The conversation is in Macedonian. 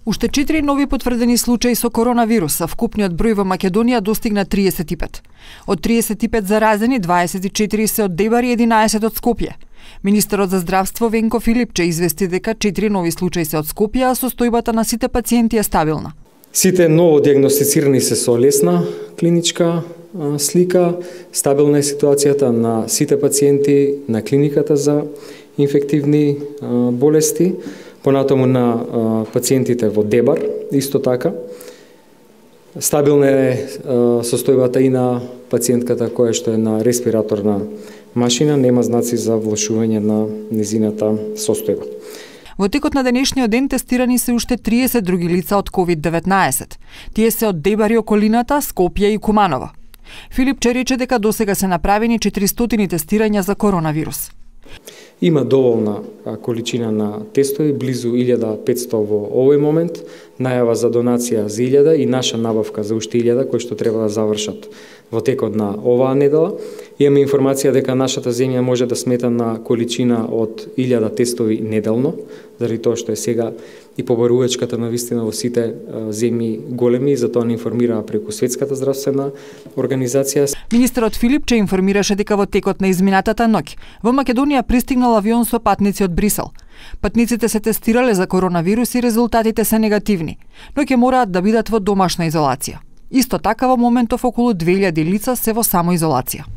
Уште 4 нови потврдени случаи со коронавирус, а вкупниот број во Македонија достигна 35. Од 35 заразени, 24 се од Дебар и 11 од Скопје. Министерот за здравство Венко Филипче извести дека 4 нови случаи се од Скопје, а состојбата на сите пациенти е стабилна. Сите ново диагностицирани се со лесна клиничка слика, стабилна е ситуацијата на сите пациенти на клиниката за инфективни болести, понатаму на пациентите во Дебар, исто така. Стабилна е состојбата и на пациентката која што е на респираторна машина, нема знаци за влошување на незината состојба. Во текот на денешниот ден тестирани се уште 30 други лица од COVID-19. Тие се од Дебар и околината, Скопје и Куманово. Филипче рече дека досега се направени 400 тестирања за коронавирус. Има доволна количина на тестови, близу 1500 во овој момент, најава за донација за 1000 и наша набавка за уште 1000 кои што треба да завршат во текот на оваа недела. Имаме информација дека нашата земја може да смета на количина од 1000 тестови неделно, заради тоа што е сега и побарувачката на вистина во сите земји големи, затоа не информираа преку Светската здравствена организација. Министерот Филипче информираше дека во текот на изминатата ноќ во Македонија пристигнал авион со патници од Брисел. Патниците се тестирале за коронавирус и резултатите се негативни, но ќе мораат да бидат во домашна изолација. Исто така во моментов околу 2000 лица се во самоизолација.